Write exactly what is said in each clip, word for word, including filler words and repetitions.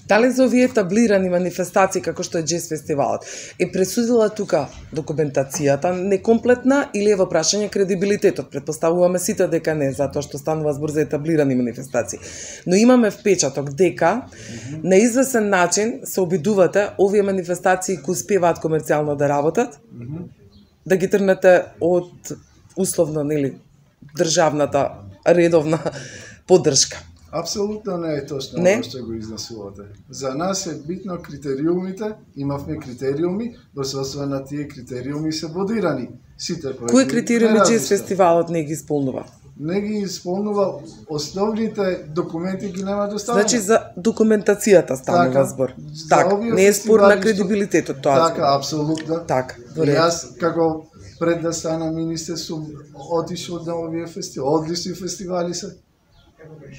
Дали за овие таблирани манифестации како што е Джез фестивалот е пресудила тука документацијата некомплетна или е во прашање кредибилитетот? Предпоставуваме сите дека не, затоа што станува збор за етаблирани манифестации. Но имаме впечаток дека mm -hmm. на извесен начин се обидувате овие манифестации кои успеваат комерцијално да работат, mm -hmm. да ги трнете од условно, нели, државната редовна поддршка. Апсолутно не е точно оно што го изнесувате. За нас е битно критериумите, имавме критериуми, во соодветство на тие критериуми се бодирани. Сите проекти. Кои критериуми Джез фестивалот не ги исполнува? Не ги исполнува, основните документи ги нема доставени. Значи за документацијата станува така, збор. Така, не е спор на кредибилитетот тоа. Така, апсолутно. Така, и јас како пред да стана министер сум отишол на овие фестивали, одлични фестивали се.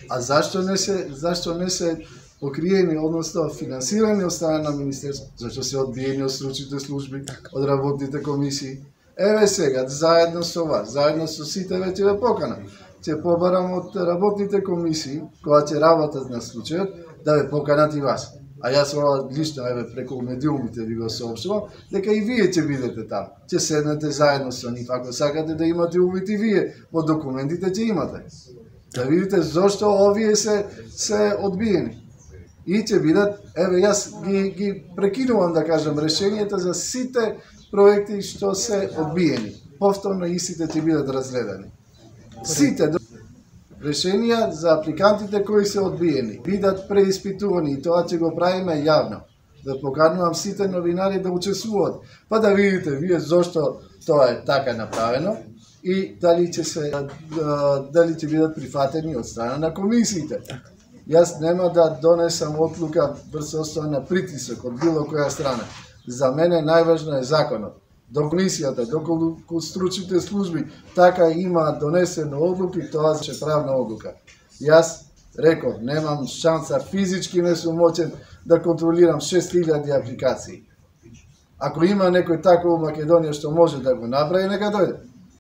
А зашто не се, зашто не се покриени, односно финансирани од страна на министерство? Зашто се одбиени од стручните служби, од работните комисии? Еве сега, заедно со вас, заедно со сите веќе ве покана. Ќе побарам од работните комисии, кога ќе работат на случајот, да ве поканат и вас. А јас ова лично, еве, преку медиумите ви го соопштувам, дека и вие ќе бидете таму. Ќе седнете заедно со нив, ако сакате да имате увид и вие, во документите ќе имате. Да видите зошто овие се се одбиени. И ќе бидат, еве јас ги ги прекинувам да кажам решенијата за сите проекти што се одбиени. Повторно истите ќе бидат разгледани. Сите решенија за апликантите кои се одбиени бидат преиспитувани и тоа ќе го правиме јавно. Да поканувам сите новинари да учествуваат, па да видите вие зошто тоа е така направено и дали ќе се дали ќе бидат прифатени од страна на комисиите. Јас нема да донесам одлука врз основа на притисок од било која страна. За мене најважно е законот. До комисијата, до стручните служби, така има донесено одлуки, тоа е правна одлука. Јас реков, немам шанса, физички не сум моќен да контролирам шест илјади апликации. Ако има некој тако во Македонија што може да го направи, нека дојде.